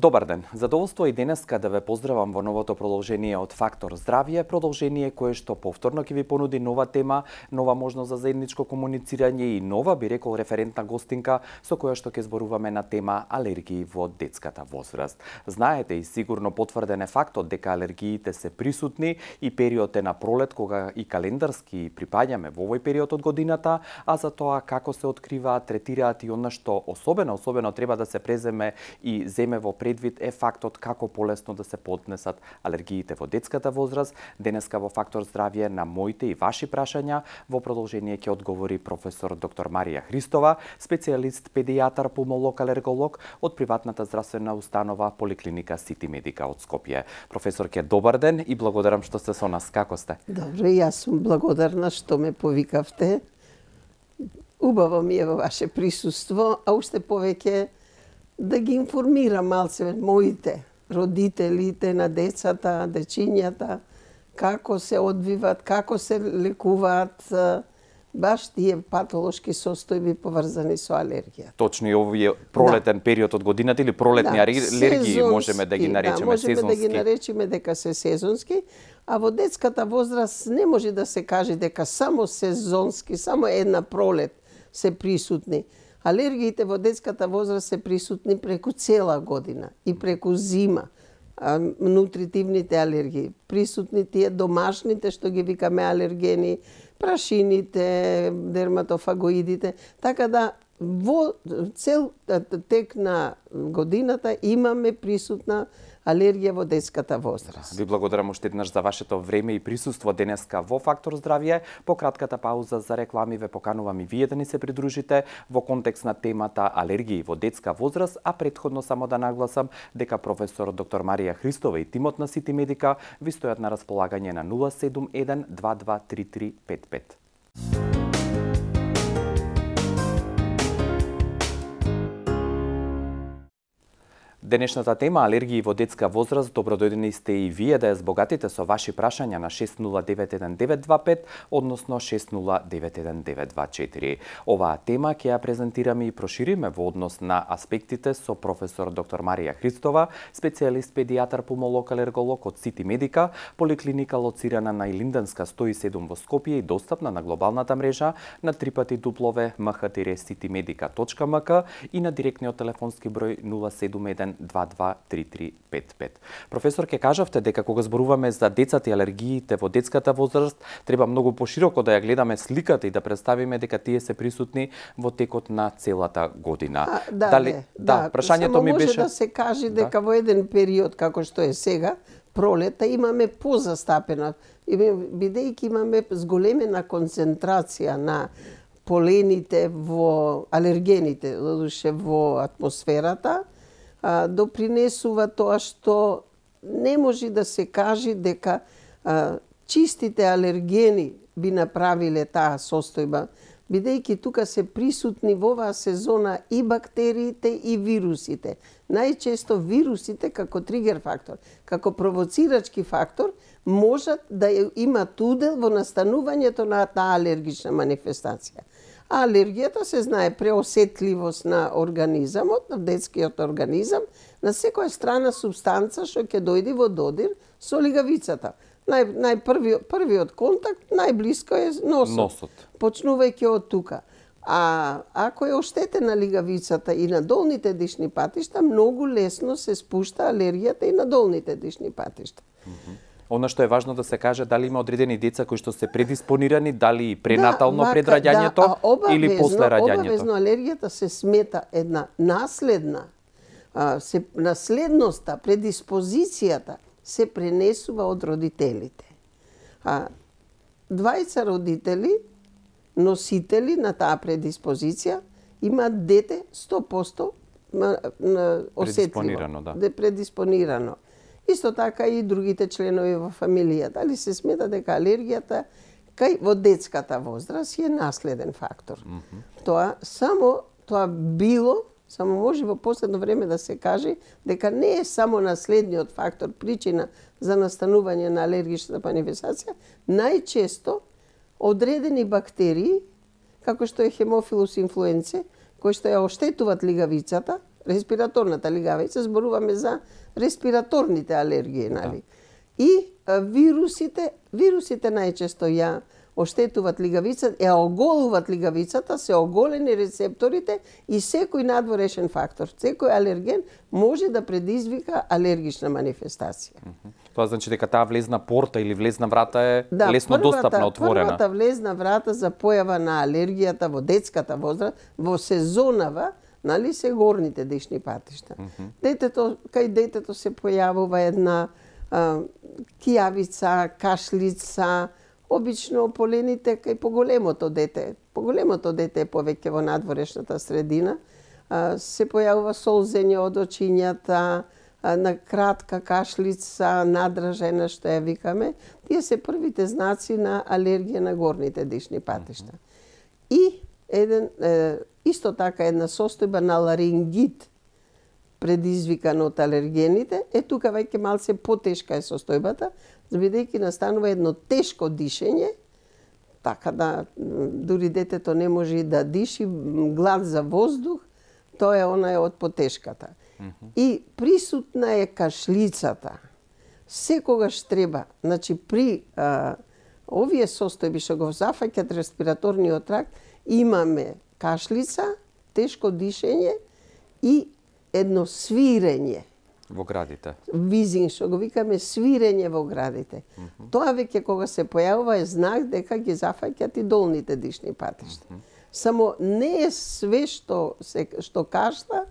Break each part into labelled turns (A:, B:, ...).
A: Добар ден. Задоволство и денеска да ве поздравам во новото продолжение од Фактор здравје, продолжение кое што повторно ќе ви понуди нова тема, нова можност за заедничко комуницирање и нова, би рекол, референтна гостинка со која што ќе зборуваме на тема алергии во детската возраст. Знаете и сигурно потврден е фактот дека алергиите се присутни и период е на пролет кога и календарски припаѓаме во овој период од годината, а за тоа како се откриваат, третираат и она што особено треба да се преземе и земе во предвид е фактот како полесно да се поднесат алергиите во детската возраст. Денеска во Фактор здравје на моите и ваши прашања во продолжение ќе одговори професор доктор Марија Христова, специјалист педијатар пулмолог алерголог од приватната здравствена установа Поликлиника Сити Медика од Скопје. Професорке, добар ден и благодарам што сте со нас. Како сте?
B: Добро, јас сум благодарна што ме повикавте. Убаво ми е во ваше присуство, а уште повеќе да ги информирам малце моите родителите на децата, дечињата, како се одвиват, како се лекуваат баш тие патолошки состојби поврзани со алергија.
A: Точно и овој пролетен период од годината или пролетни алергии можеме да ги наречеме сезонски.
B: Можеме да ги наречеме дека се сезонски, а во детската возраст не може да се каже дека само сезонски, само една пролет се присутни. Алергиите во детската возраст се присутни преку цела година и преку зима. Нутритивните алергии, присутни тие домашните што ги викаме алергени, прашините, дерматофагоидите, така да во цел тек на годината имаме присутна алергија во детската возраст.
A: Ви благодарам уште еднаш за вашето време и присуство денеска во Фактор здравје. По кратката пауза за реклами ве поканувам и вие да ни се придружите во контекст на темата алергии во детска возраст, а претходно само да нагласам дека професор доктор Марија Христова и тимот на Сити Медика ви стојат на располагање на 071 223355. Денешната тема алергии во детска возраст, добродојдени сте и вие да ја збогатите со ваши прашања на 60911925, односно 60911924. Оваа тема ќе ја презентираме и прошириме во однос на аспектите со професор доктор Марија Христова, специјалист педијатар пулмолог алерголог од Сити Медика, поликлиника лоцирана на Илинденска 107 во Скопје и достапна на глобалната мрежа на www.mh-citimedica.mk и на директниот телефонски број 071 223355. Професор, ке кажавте дека кога зборуваме за децата и алергиите во детската возраст, треба многу пошироко да ја гледаме сликата и да представиме дека тие се присутни во текот на целата година.
B: Прашањето ми беше... Само може да се каже дека во еден период, како што е сега, пролета, имаме позастапена, бидејќи имаме зголемена концентрација на полените во алергените, додуше во атмосферата, допринесува тоа што не може да се каже дека чистите алергени би направиле таа состојба, бидејќи тука се присутни во оваа сезона и бактериите и вирусите. Најчесто вирусите како тригер фактор, како провоцирачки фактор, можат да имат удел во настанувањето на таа алергична манифестација. А алергијата се знае преосетливост на организамот, на детскиот организам, на секоја страна субстанца што ќе дојде во додир со лигавицата. Првиот контакт најблиско е носот. Почнувајќи од тука. А ако е оштетена лигавицата и на долните дишни патишта, многу лесно се спушта алергијата и на долните дишни патишта.
A: Она што е важно да се каже, дали има одредени деца кои што се предиспонирани, дали преднатално пред раѓањето или после раѓањето?
B: Обавезно алергијата се смета една наследна, наследноста, предиспозицијата се пренесува од родителите. Двајца родители, носители на таа предиспозиција, имаат дете 100% осетливо, предиспонирано. Исто така и другите членови во фамилијата. Дали се смета дека алергијата кај во детската возраст е наследен фактор. Само може во последно време да се каже дека не е само наследниот фактор причина за настанување на алергична манифестација, најчесто одредени бактерии, како што е Haemophilus influenzae, кои што ја оштетуваат лигавицата, респираторната лигавица, зборуваме за респираторните алергии, нали? И вирусите најчесто ја оштетуваат лигавицата, ја оголуваат лигавицата, се оголени рецепторите и секој надворешен фактор, секој алерген може да предизвика алергична манифестација.
A: Тоа значи дека таа влезна порта или влезна врата е лесно достапна, отворена.
B: Првата влезна врата за појава на алергијата во детската возраст, во сезонава, нали, се горните дишни патишта. Кај детето се појавува една кијавица, кашлица, обично ополените кај поголемото дете. Поголемото дете е повеќе во надворешната средина. Се појавува солзење од очињата, на кратка кашлица, надражена, што ја викаме. Тие се првите знаци на алергија на горните дишни патишта. И исто така една состојба на ларингит предизвикан од алергените, тука веќе малце потешка е состојбата, бидејќи настанува едно тешко дишење, така да дури детето не може да диши, глад за воздух, тоа е она од потешката. И присутна е кашлицата. Секогаш треба, значи при овие состојби што го зафаќаат респираторниот тракт, имаме кашлица, тешко дишење и едно свирење
A: во градите.
B: Визинг, што го викаме свирење во градите. Тоа веќе кога се појавува е знак дека ги зафаќаат и долните дишни патишта. Само не е све што кашла,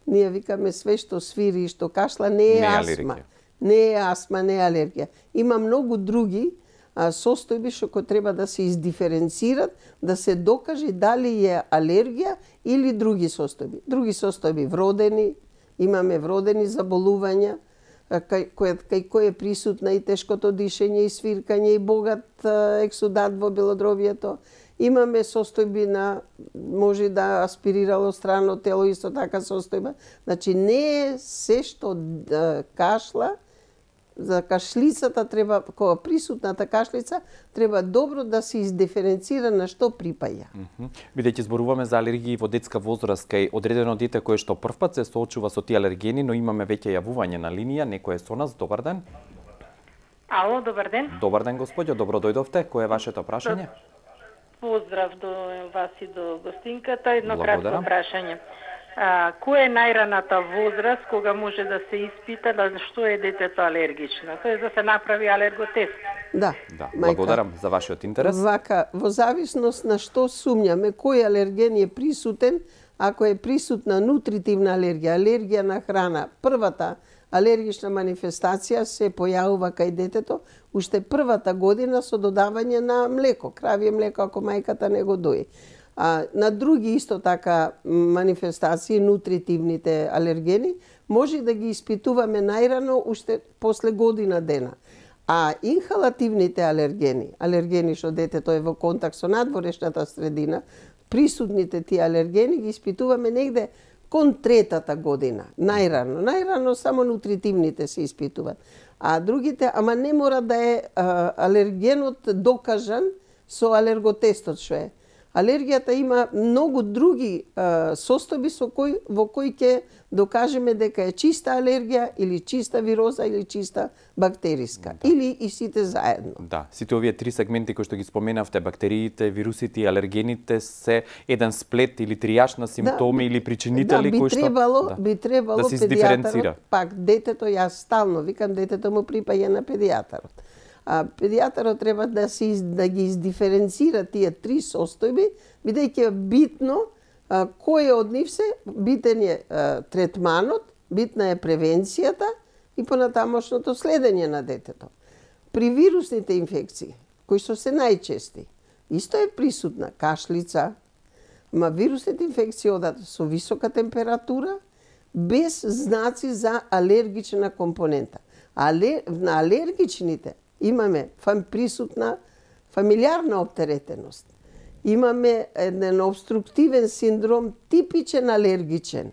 B: ние викаме све што свири и што кашла, не е астма. Не е астма, не е алергија. Има многу други состојби што треба да се издиференцират, да се докаже дали е алергија или други состојби. Други состојби вродени, имаме вродени заболувања, кај кој е присутна и тешкото дишење, и свиркање, и богат ексудат во белодробието. Имаме состојби на, може да аспирирало странно тело, исто така состојба. Значи не е се што кашла, за кашлицата треба, кога присутната кашлица, треба добро да се издиференцира на што припаја.
A: Бидејќи зборуваме за алергии во детска возраст, кај одредено дете кое што првпат се соочува со тие алергени, но имаме веќе јавување на линија, некој е со нас, добар ден.
C: Ало, добар ден.
A: Добар ден, господјо, добро дојдовте. Кој е вашето прашање?
C: Поздрав до вас и до гостинката. Едно кратко прашање. Која е најраната возраст кога може да се испита да што е детето алергично? Тоа е да се направи алерготест.
B: Да,
A: благодарам за вашиот интерес.
B: Вака, во зависност на што сумњаме, кој алерген е присутен, ако е присутна нутритивна алергија, алергија на храна, првата алергична манифестација се појавува кај детето уште првата година со додавање на млеко, кравје млеко ако мајката не го дои. На други исто така манифестации, нутритивните алергени, може да ги испитуваме најрано уште после година дена. А инхалативните алергени што детето е во контакт со надворешната средина, присутните тие алергени ги испитуваме негде кон третата година, најрано. Најрано само нутритивните се испитуваат. А другите, ама не мора да е алергенот докажан со алерготестот што е. Алергијата има многу други состојби во кои ќе докажеме дека е чиста алергија или чиста вироза или чиста бактериска. Или и сите заедно.
A: Да, сите овие три сегменти кои што ги споменавте, бактериите, вирусите и алергените, се еден сплет или тријаж на симптоми или причинители кои што
B: би требало
A: да се издиференцира.
B: Пак детето, јас стално викам, детето му припаѓа на педијатарот. Педијатарот треба да ги издиференцира тие три состојби, бидејќи е битно кој од нив се, битен е третманот, битна е превенцијата и понатамошното следење на детето. При вирусните инфекции, кои што се најчести, исто е присутна кашлица, ма вирусните инфекции одат со висока температура, без знаци за алергична компонента. На алергичните имаме присутна фамилиарна оптеретеност. Имаме еден обструктивен синдром, типичен алергичен,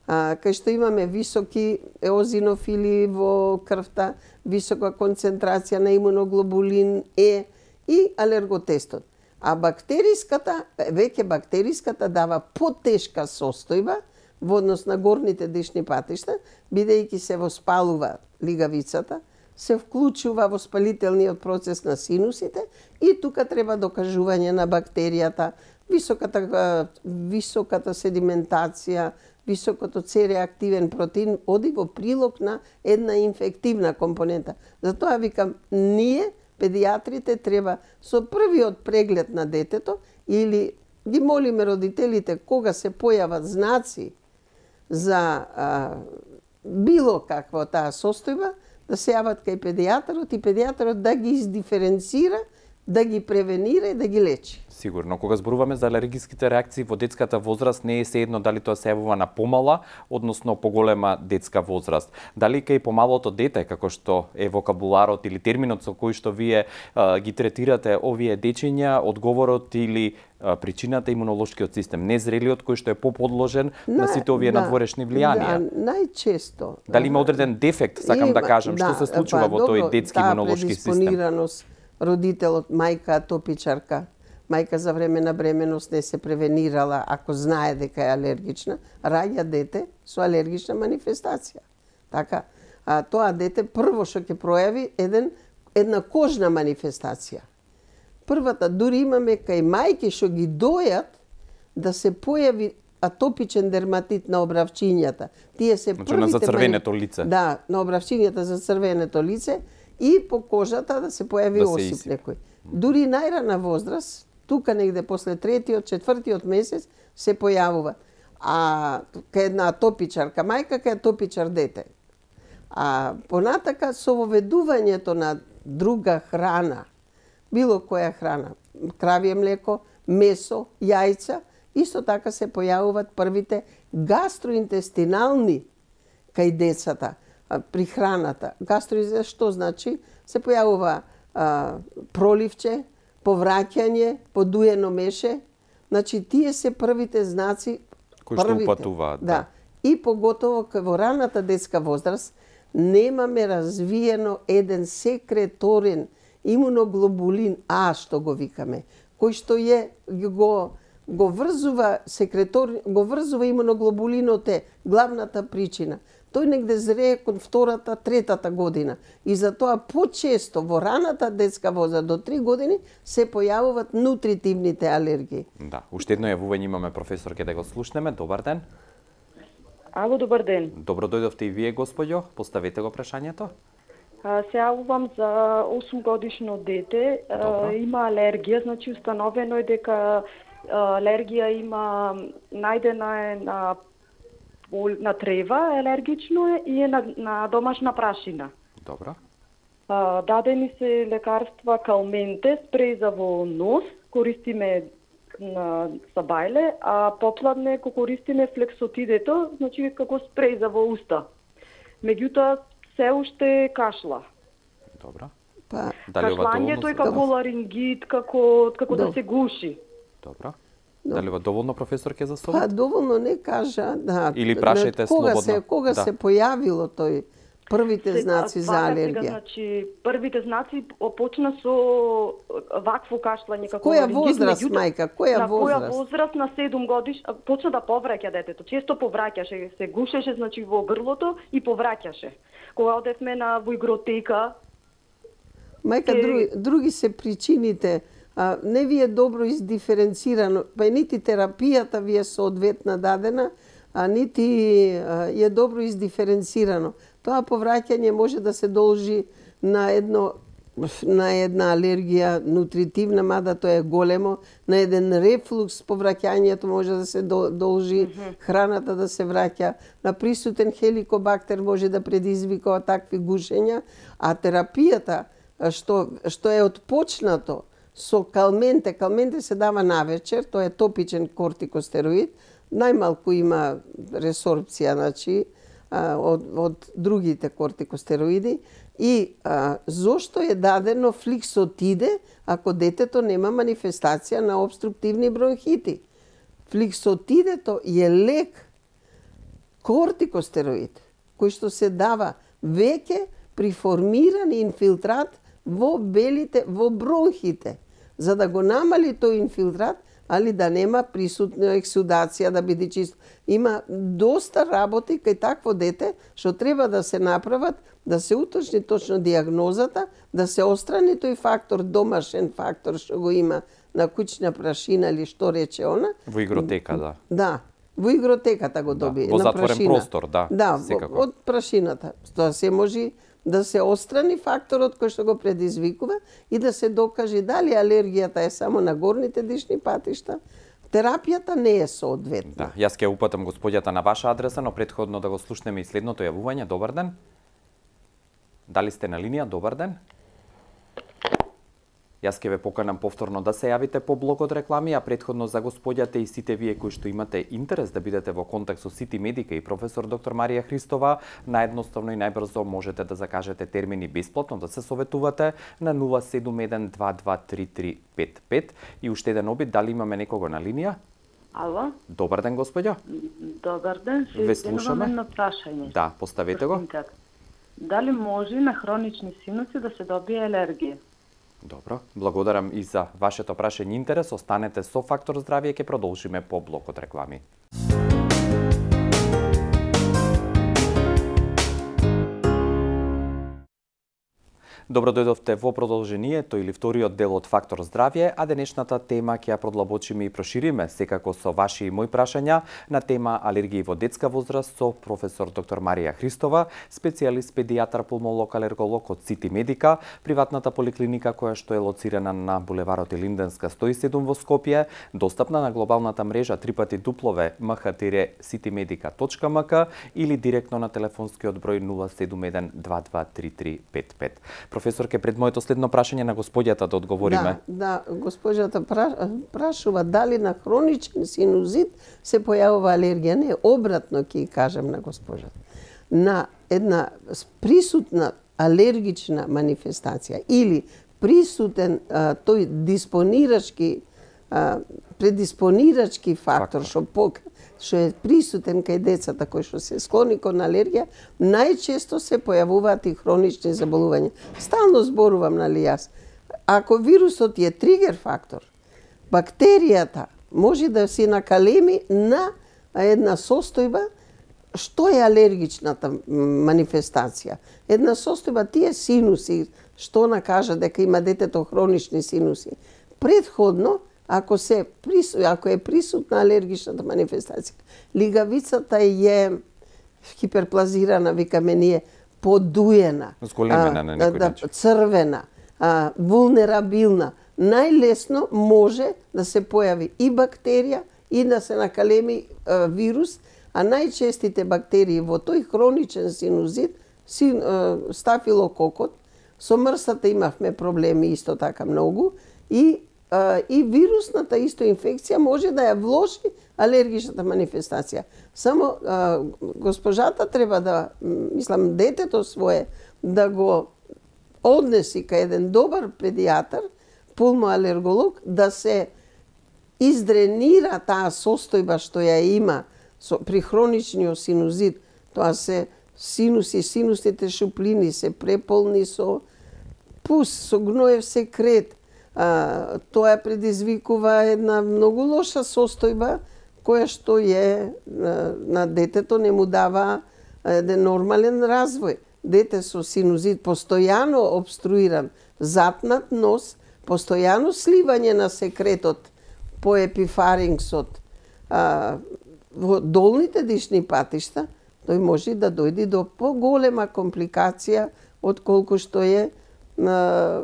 B: кај што имаме високи еозинофили во крвта, висока концентрација на имуноглобулин Е и алерготестот. А бактериската дава потешка состојба, во однос на горните дишни патишта, бидејќи се воспалува лигавицата, се вклучува воспалителниот процес на синусите и тука треба докажување на бактеријата, високата седиментација, високото С-реактивен протеин оди во прилог на една инфективна компонента. Затоа викам, ние, педиатрите, треба со првиот преглед на детето или ги молиме родителите кога се појават знаци за било каква таа состојба, да се јават кај педијатарот и педијатарот да ги издиференцира, да ги превенира и да ги лечи.
A: Сигурно, кога зборуваме за алергиските реакции во детската возраст, не е сеедно дали тоа се јавува на помала, односно поголема детска возраст. Дали кај помалото дете, како што е вокабуларот или терминот со кој што вие ги третирате овие дечиња, одговорот или причината имунолошкиот систем, незрелиот кој што е поподложен на сите овие надворешни влијанија.
B: Да, најчесто.
A: Дали има одреден дефект, сакам да кажам, што се случува во тој детски имунолошки систем?
B: Родителот, мајка атопичарка, мајка за време на бременост не се превенирала, ако знае дека е алергична, раѓа дете со алергична манифестација. Така, тоа дете прво што ќе пројави една кожна манифестација. Првата, дури имаме кај мајки што ги дојат да се појави атопичен дерматит на обравчињата. Тие се
A: првите на зацрвенето лице.
B: Да, на обравчињата за црвенето лице и по кожата да се појави осип некој. Дури најрана возраст, тука негде после 3-тиот, 4-тиот месец се појавува. А кај една атопичарка мајка, кај атопичар дете. А понатака со воведувањето на друга храна, било која храна, кравје млеко, месо, јајца, исто така се појавуваат првите гастроинтестинални кај децата при храната. Гастроинтестинални што значи? Се појавува проливче, повраќање, подуено меше. Значи тие се првите знаци
A: кои што упатуваат.
B: Да. И поготово во раната детска возраст немаме развиено еден секреторен имуноглобулин А, што го викаме, кој што го врзува го врзува имуноглобулинот е главната причина. Тој негде зрее кон 2-та, 3-та година. И затоа почесто во раната детска возраст до 3 години се појавуваат нутритивните алергии.
A: Да, уште едно јавување имаме, професор, ке да го слушнеме. Добар ден.
D: Ало, добар ден.
A: Добро дојдовте и вие, господјо. Поставете го прашањето.
D: Се јавувам за 8 годишно дете. Има алергија, значи установено е дека алергија има, најдена е на трева, алергично е и е на домашна прашина.
A: Добро.
D: Дадени се лекарства калменте, спреј за во нос, користиме на сабајле, а попладне ко користиме флексотидето, значи како спреј за во уста. Меѓутоа се уште кашла.
A: Добро.
D: Кашлањето е како ларингит, како да се гуши.
A: Добро. Дали ова доволно, професор, ке за совет?
B: Доволно не кажа, да.
A: Или прашајте слободно.
B: Кога се појавило тој првите знаци за алергија?
D: Значи, првите знаци почна со вакво кашлање како
B: која возраст, мајка? Која возраст?
D: На која возраст? На 7 годиш почна да повраќа детето. Често повраќаше, се гушеше, значи во грлото и повраќаше. Кога одевме во игротека,
B: мајка, други се причините. Не ви е добро издиференцирано, па нити терапијата ви е соодветна дадена, нити е добро издиференцирано. Тоа повраќање може да се должи на една алергија нутритивна, мада тоа е големо, на еден рефлукс повраќањето може да се должи, храната да се враќа, на присутен хеликобактер може да предизвикува такви гушења, а терапијата што е отпочнато со калменте се дава навечер, тоа е топичен кортикостероид, најмалку има ресорбција, значи, од другите кортикостероиди. И зошто е дадено фликсотиде ако детето нема манифестација на обструктивни бронхити? Фликсотидето е лек кортикостероид, кој што се дава веќе при формиран инфилтрат во белите, во бронхите. За да го намали тој инфилтрат, али да нема присутна ексудација, да биде чисто. Има доста работи кај такво дете што треба да се направат, да се уточни точно диагнозата, да се острани тој фактор, домашен фактор што го има на куќна прашина или што рече она.
A: Во игротека, да.
B: Да, во игротеката го доби.
A: Во затворен простор, да.
B: Да, од прашината. Тоа се може да се острани факторот кој што го предизвикува и да се докаже дали алергијата е само на горните дишни патишта, терапијата не е соодветна.
A: Да, јас ќе упатам господјата на ваша адреса, но претходно да го слушнеме и следното јавување. Добар ден. Дали сте на линија? Добар ден. Јас ќе ве поканам повторно да се јавите по блокот реклами, а претходно за господјата и сите вие кои што имате интерес да бидете во контакт со Сити Медика и професор доктор Марија Христова, наедноставно и најбрзо можете да закажете термини бесплатно да се советувате на 071223355 и уште еден обид, дали имаме некого на линија?
E: Ало?
A: Добар ден, господја.
E: Добар ден,
A: ве слушаме.
E: Едно прашање.
A: Да, поставете го.
E: Дали може на хронични синуси да се добие алергија?
A: Добро, благодарам и за вашето прашање и интерес. Останете со Фактор здравје, ќе продолжиме по блокот реклами. Добро дојдовте во продолжението или вториот дел од Фактор здравје, а денешната тема ќе ја продлабочиме и прошириме секако со ваши и мои прашања на тема алергии во детска возраст со професор доктор Марија Христова, специјалист педијатар пулмолог алерголог од Сити Медика, приватната поликлиника која што е лоцирана на булеварот Илинденска 107 во Скопје, достапна на глобалната мрежа www.mh-citymedica.mk или директно на телефонскиот број 071 223355. Професор, ке пред моето следно прашање на господјата да одговориме.
B: Да, господјата прашува дали на хроничен синузит се појавува алергија. Не, обратно ќе кажам на госпожата. На една присутна алергична манифестација или присутен тој предиспонирачки фактор што е присутен кај децата кои што се склони кон алергија, најчесто се појавуваат и хронични заболувања. Стално зборувам, нали јас. Ако вирусот е тригер фактор, бактеријата може да се накалеми на една состојба што е алергичната манифестација. Една состојба тие синуси, што накажа дека има детето хронични синуси. Предходно, ако е присутна алергичната манифестација, лигавицата е хиперплазирана, викаме ние, подуена,
A: зголемена на некој начин,
B: црвена, вулнерабилна, најлесно може да се појави и бактерија и да се накалеми вирус, а најчестите бактерии во тој хроничен синузит, стафилококот, со мрсата имавме проблеми исто така многу, и вирусната исто инфекција може да ја вложи алергичната манифестација. Само госпожата треба да, мислам, детето свое да го однеси кај еден добар педијатар, пулмоалерголог, да се издренира таа состојба што ја има при хроничниот синузит. Тоа се синусните шуплини се преполни со пус, со гноев секрет. Тоа предизвикува една многу лоша состојба која што на детето не му дава еден нормален развој. Дете со синузит постојано обструиран, затнат нос, постојано сливање на секретот по епифарингсот во долните дишни патишта, тој може да дојде до поголема компликација од колку што е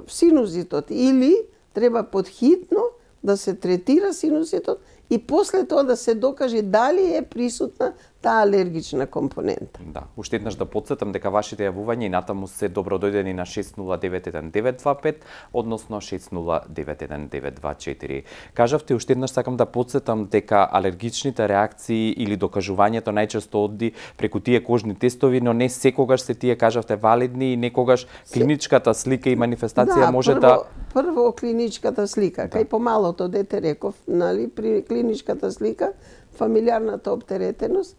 B: синузитот. Или треба подхитно да се третира синуситот и после тоа да се докаже дали е присутна таа алергична компонента.
A: Да, уште еднаш да потсетам дека вашите јавувања и натаму се добродојдени на 6091-925, односно 6091-924. Кажавте, уште еднаш сакам да потсетам дека алергичните реакции или докажувањето најчесто оди преку тие кожни тестови, но не секогаш се тие, кажавте, валидни и некогаш клиничката слика и манифестација може да...
B: Прво клиничката слика, кај помалото дете реков, нали, при клиничката слика, фамилиарната оптеретеност,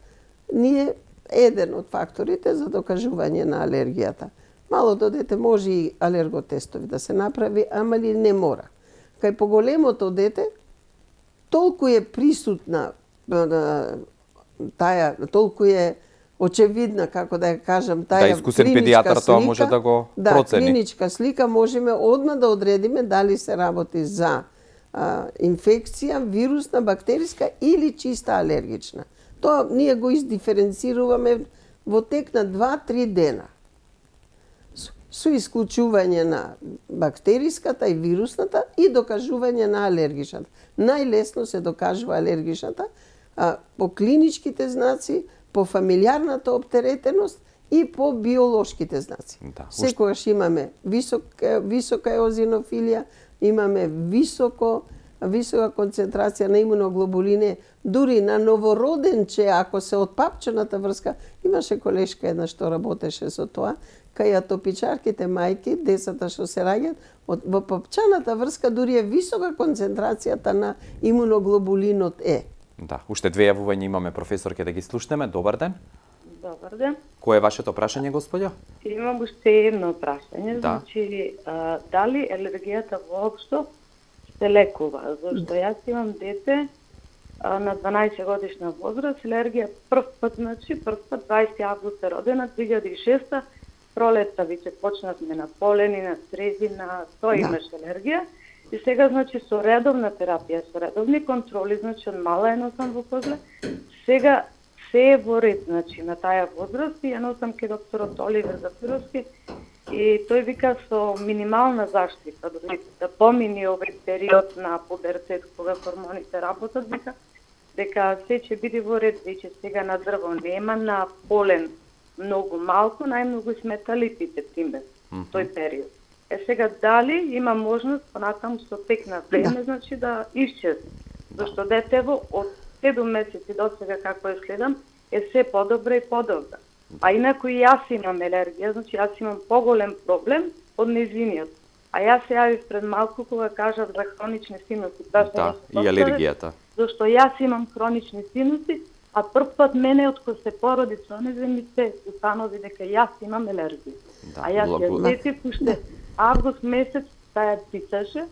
B: ние еден од факторите за докажување на алергијата. Малото дете може и алерготестови да се направи, ама ли не мора. Кај поголемото дете, толку е присутна таа, толку е очевидна, како да ја кажам, таа
A: искусен педијатар тоа може да го процени.
B: Да, клиничка слика можеме одма да одредиме дали се работи за инфекција, вирусна, бактериска или чиста алергична. Тоа ние го издиференцируваме во тек на 2-3 дена. Со исклучување на бактериската и вирусната и докажување на алергичната. Најлесно се докажува алергичната по клиничките знаци, по фамилиарната оптеретеност и по биолошките знаци. Да, секогаш имаме висока еозинофилија, имаме висока концентрација на имуноглобулини, дури на новороденче, ако се од папчената врска, имаше колешка една што работеше со тоа, кај атопичарките мајки, децата што се раѓаат, во папчаната врска дури е висока концентрацијата на имуноглобулинот Е.
A: Да, уште две јавувања имаме, професор, ќе да ги слушнеме. Добар ден.
E: Добар ден.
A: Кој е вашето прашање, господја?
E: Имам уште едно прашање, значи дали алергијата воопшто се лекува, зашто јас имам дете на 12 годишна возраст, алергија прв пат 20 август е родена, 2006 пролетта веќе почнавме на полени, на стрезина, тоа имаш алергија. И сега, значи, со редовна терапија, со редовни контроли, значи, од мала ја носам во козле, сега се е во ред, значи, на таа возраст и ја носам ке докторот Оливер Зафировски и тој вика со минимална заштита, да помини овој период на пубертет, кога хормоните работат, вика, дека се ќе биде во ред, веќе сега на дрво нема, на полен многу малку, најмногу сметалитите, пример, тој период. Сега дали има можност понатаму со тек на време, значи да исчезне. Зашто детево од 7 месеци до сега како е следам е се подобра и подобра. А инаку и јас имам алергија, значи јас имам поголем проблем од незиниот. А јас се јавив пред малку кога кажав за хронични синуси.
A: Да, и алергијата.
E: Зашто јас имам хронични синуси, а прв пат мене од кој се породи со незе ми се установи дека јас имам алергија. Да, а јас ја сетив уште август месец таа цицаше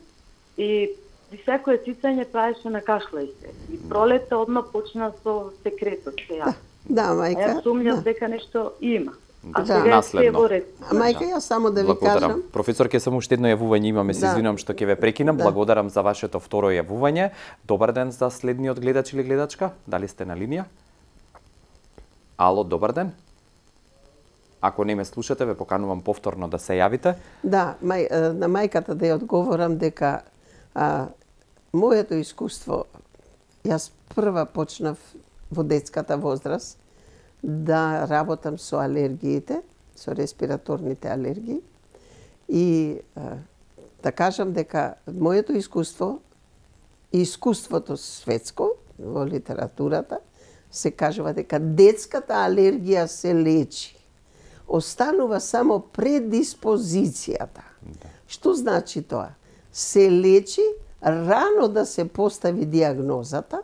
E: и секое цицање правеше на кашлајте. И пролетта одма почна со секретот се јави.
B: Да, мајка.
E: Јас сумњав дека нешто има. А
A: сега наследно.
B: Мајка, јас само да ви кажам.
A: Професор, ке само уште едно јавување имаме, се извинувам што ќе ве прекинам. Благодарам за вашето второ јавување. Добар ден за следниот гледач или гледачка. Дали сте на линија? Ало, добар ден. Ако не ме слушате, ве поканувам повторно да се јавите.
B: Да, на мајката да ја одговорам дека моето искуство, јас прва почнав во детската возраст да работам со алергиите, со респираторните алергии и да кажам дека моето искуство и искуството светско во литературата се кажува дека детската алергија се лечи. Останува само предиспозицијата. Да. Што значи тоа? Се лечи рано да се постави диагнозата,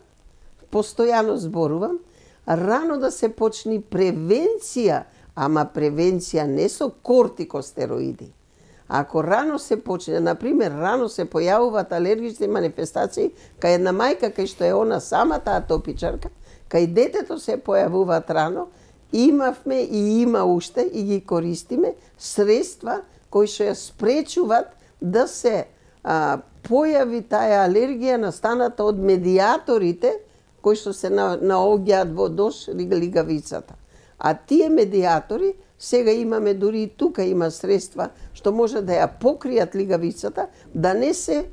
B: постојано зборувам, рано да се почни превенција, ама превенција не со кортикостероиди. Ако рано се почне, например, рано се појавуваат алергични манифестации, кај една мајка кај што е она самата атопичарка, кај детето се појавуваат рано, имавме и има уште и ги користиме средства кои што ја спречуваат да се појави таа алергија настаната од медиаторите кои што се наоѓаат во дош лигавицата. А тие медиатори сега имаме дури и тука има средства што може да ја покријат лигавицата, да не се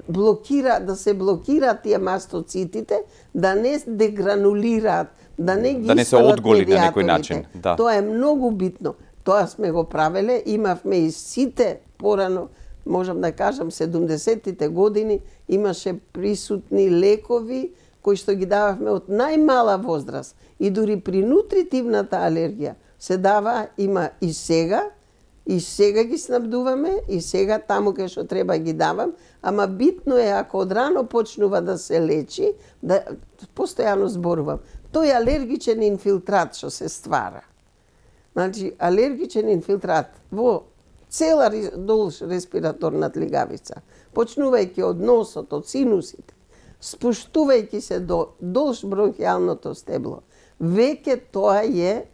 B: блокираат тие мастоцитите, да не дегранулираат, да не
A: се одголи на некој начин. Да.
B: Тоа е многу битно. Тоа сме го правеле, имавме и сите порано, можам да кажам, 70-тите години имаше присутни лекови кои што ги дававме од најмала возраст. И дури при нутритивната алергија се дава, има и сега ги снабдуваме, и сега таму кај што треба ги давам, ама битно е ако одрано почнува да се лечи, да постојано зборувам, тој алергичен инфилтрат што се ствара. Значи, алергичен инфилтрат во цела долж респираторна лигавица, почнувајќи од носот, од синусите, спуштувајќи се долж бронхијалното стебло, веќе тоа е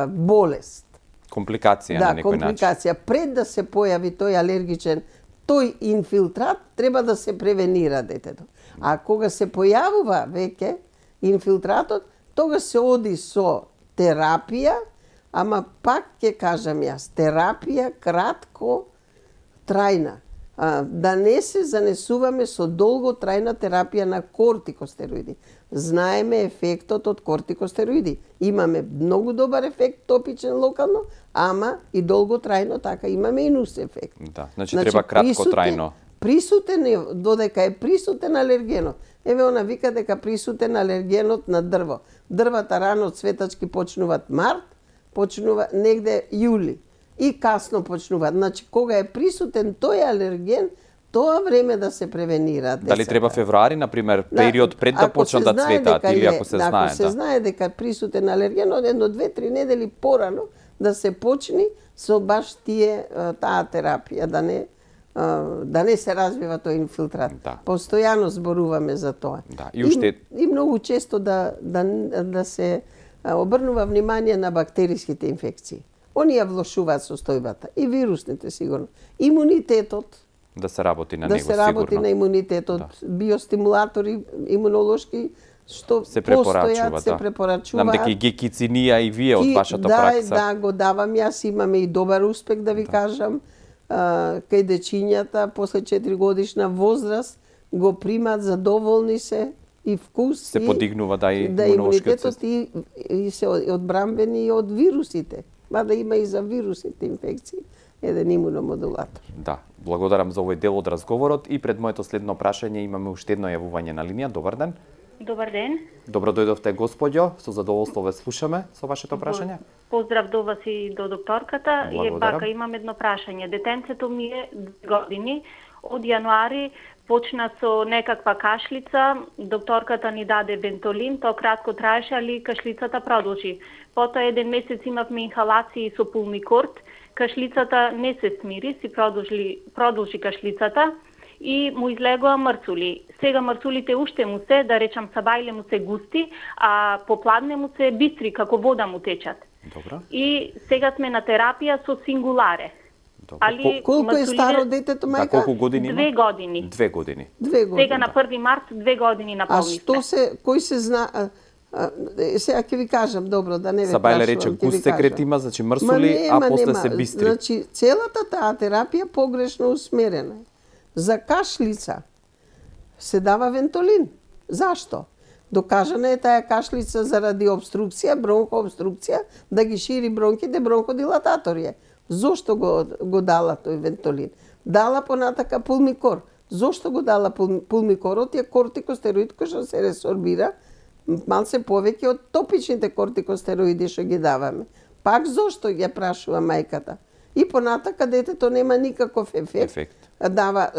B: болест.
A: Компликација на некој начин.
B: Да, компликација. Пред да се појави тој алергичен, тој инфилтрат, треба да се превенира детето. А кога се појавува веќе инфилтратот, тога се оди со терапија, ама пак ќе кажам јас, терапија кратко трајна. Да не се занесуваме со долготрајна терапија на кортикостероиди. Знаеме ефектот од кортикостероиди. Имаме многу добар ефект топичен локално, ама и долготрајно така имаме и нус ефект.
A: Да, значи треба краткотрајно.
B: Присутен е, додека е присутен алергенот. Еве она вика дека присутен алергенот на дрво. Дрвата рано цветачки почнуваат март, почнува негде јули и касно почнуваат. Значи кога е присутен тој алерген, тоа време да се превенира децата.
A: Дали треба февруари, например, период пред да почнат да цветаат или ако се знае?
B: Ако се знае дека присутен алерген, од 1-2-3 недели порано да се почни со баш таа терапија, да не се развива тој инфилтрат.
A: Да.
B: Постојано зборуваме за тоа.
A: Да. И
B: многу често да се обрнува внимание на бактериските инфекции. Оние влошуваат состојбата. И вирусните сигурно. Имунитетот.
A: Да се работи на него сигурно.
B: Да се работи на имунитетот. Да. Биостимулатори имунолошки што
A: се препорачуваат.
B: Се препорачуваат.
A: Нам дека и гекицинија и вие од вашата пракса.
B: Да, го давам јас, имаме и добар успех да ви кажам. Кај дечињата после 4 годишна возраст го примат, задоволни се и вкус
A: се подигнува и
B: имунитетот и се одбрамбени и од вирусите. Мада има и за вирусните инфекции еден имуномодулатор.
A: Да, благодарам за овој дел од разговорот и пред моето следно прашање имаме уште едно јавување на линија. Добар ден.
F: Добар ден.
A: Добро дојдовте, господјо. Со задоволство ве слушаме со вашето прашање.
F: Поздрав до вас и до докторката. И бака, имам едно прашање. Детенцето ми е 2 години. Од јануари почна со некаква кашлица. Докторката ни даде Вентолин. Тоа кратко траеше, али кашлицата продолжи. Потоа 1 месец имавме инхалации со пулмикорд. Кашлицата не се смири, си продолжи кашлицата и му излегоа мрцули. Сега мрцулите уште му се, да речам сабајле му се густи, а попладне му се бистри, како вода му течат.
A: Добро.
F: И сега сме на терапија со сингуларе.
B: Али колку е старо детето, мајка?
A: Да, колку години има?
F: 2 години.
A: 2 години.
B: 2 години.
F: Сега на 1 март 2 години наполнивме.
B: А што кој се зна... сега ќе ви кажам, добро, да не ве прашувам.
A: Сабајле рече густ секрет има, значи мрсули, а после се бистри.
B: Значи, целата таа терапија погрешно усмерена. За кашлица се дава Вентолин. Зашто? Докажана е таа кашлица заради обструкција, бронхообструкција, да ги шири бронхите, бронходилататори е. Зошто го дала тој Вентолин? Дала понатака пулмикор. Зошто го дала пулмикорот? Е кортикостероид кој што се ресорбира малце повеќе од топичните кортикостероиди што ги даваме. Пак зошто ја прашува мајката? И понатака детето нема никаков ефект.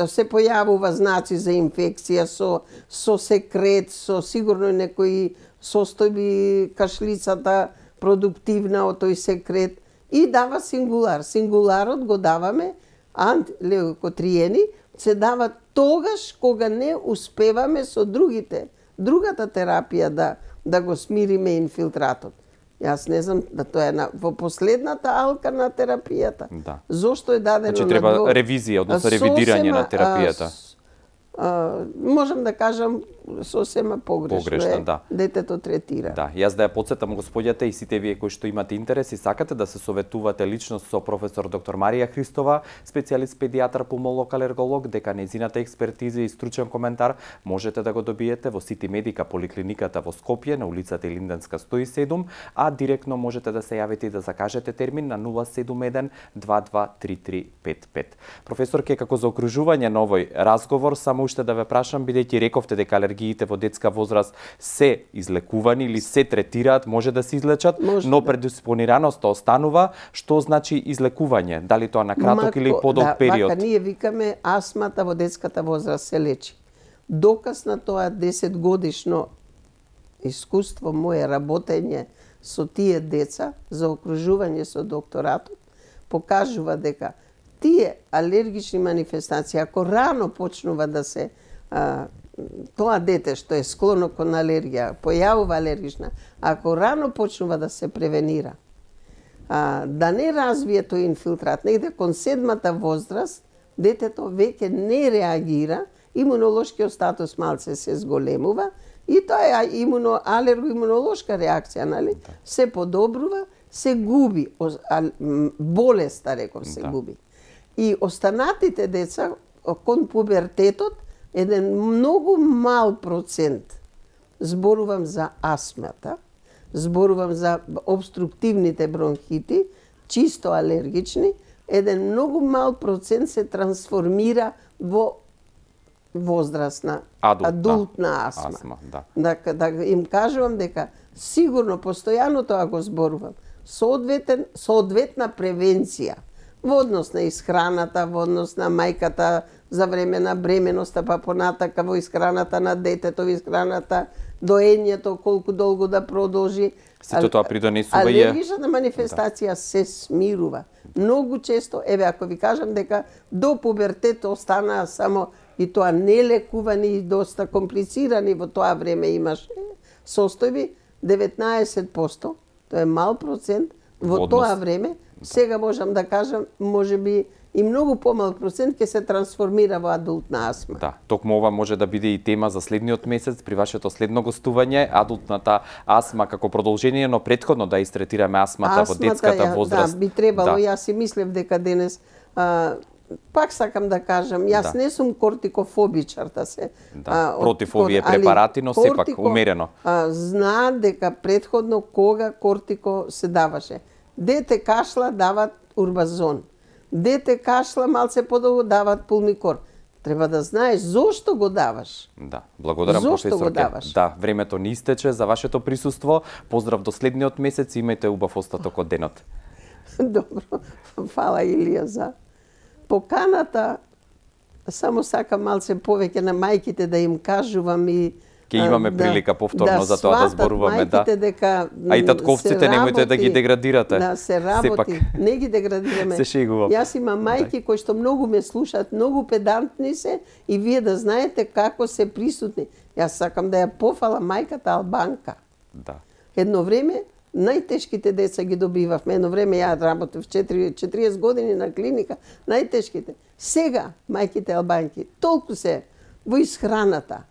B: Се појавува знаци за инфекција со секрет, со сигурно некои состојби, кашлицата продуктивна од тој секрет и дава сингулар. Сингуларот го даваме, антилеукотриени, се дава тогаш кога не успеваме со другата терапија да го смириме инфилтратот. Јас не знам да тоа е во последната алка на терапијата.
A: Да.
B: Зошто е дадено
A: значи треба ревизија, односно ревидирање на терапијата.
B: Можам да кажам сосема погрешно
A: да.
B: Детето третира.
A: Да, јас да ја потсетам господјата и сите вие кои што имате интерес и сакате да се советувате лично со професор доктор Марија Христова, специјалист педијатар, пулмолог, алерголог, дека нејзината експертиза и стручен коментар можете да го добиете во Сити Медика поликлиниката во Скопје на улицата Илинденска 107, а директно можете да се јавите и да закажете термин на 071 223355. Професорке, како заокружување на овој разговор, само уште да ве прашам, бидејќи рековте дека алергиите во детска возраст се излекувани или се третираат, може да се излечат, но предиспонираноста останува. Што значи излекување? Дали тоа на краток или подолг период?
B: Вака ние викаме астмата во детската возраст се лечи. Доказ на тоа 10 годишно искуство мое работење со тие деца за окружување со докторатот покажува дека тие алергични манифестации, ако рано почнува да се тоа дете што е склоно кон алергија, појавува алергична, ако рано почнува да се превенира, да не развие тој инфилтрат, негде кон 7-та возраст, детето веќе не реагира, имунолошкиот статус малце се зголемува и тоа е алерго-имунолошка реакција, нали? Се подобрува, се губи, болеста, реков, се губи. И останатите деца, кон пубертетот, еден многу мал процент, зборувам за астмата, зборувам за обструктивните бронхити, чисто алергични, еден многу мал процент се трансформира во возрастна, адултна асма. Да им кажувам дека сигурно, постојано тоа го зборувам, соодветна превенција во однос на исхраната, во однос на мајката за време на бременоста, па понатака во исхраната на детето, во исхраната, доењето, колку долго да продолжи.
A: Сето тоа придонесува и
B: алергичната манифестација се смирува. Многу често, еве ако ви кажам дека до пубертет останаа само и тоа нелекувани и доста комплицирани во тоа време имаше состојби, 19%, тоа е мал процент, во тоа време, сега можам да кажам, можеби и многу помал процент ќе се трансформира во адултна асма.
A: Да, токму ова може да биде и тема за следниот месец при вашето следно гостување, адултната асма како продолжение, но претходно да истретираме асмата во детската возраст.
B: Да, би требало, јас си мислев дека денес пак сакам да кажам, јас не сум кортикофобичар да се
A: против овие препарати, но сепак умерено.
B: Знаат дека претходно кога кортико се даваше. Дете кашла дават урбазон. Дете кашла малце подолго дават пулмикор. Треба да знаеш зошто го даваш.
A: Да, благодарам професорке. Да, времето ни истече за вашето присуство. Поздрав до следниот месец, имајте убав остаток од денот.
B: Добро, фала Илија за поканата. Само сакам малце повеќе на мајките да им кажувам и
A: ке имаме прилика повторно за тоа да зборуваме, да.
B: Дека
A: а и татковците немојте да ги деградирате.
B: Да, се работи, не ги деградираме.
A: Се шегувам.
B: Јас имам мајки кои што многу ме слушаат, многу педантни се и вие да знаете како се присутни. Јас сакам да ја пофала мајката албанка.
A: Да.
B: Едно време најтешките деца ги добивавме. Едно време ја работев 40 години на клиника, најтешките. Сега мајките албанки толку се во исхраната,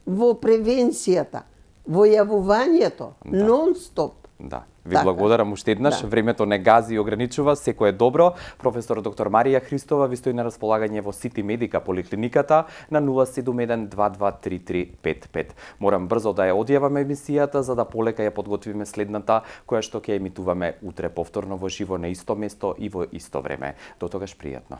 B: во превенцијата, во јавувањето, нон-стоп.
A: Да. Ви благодарам уште еднаш. Времето не гази и ограничува, секој е добро. Професор доктор Марија Христова ви стои на располагање во Сити Медика поликлиниката на 071-223355. Морам брзо да ја одјаваме емисијата за да полека ја подготвиме следната, која што ќе емитуваме утре повторно во живо на исто место и во исто време. До тогаш пријатно.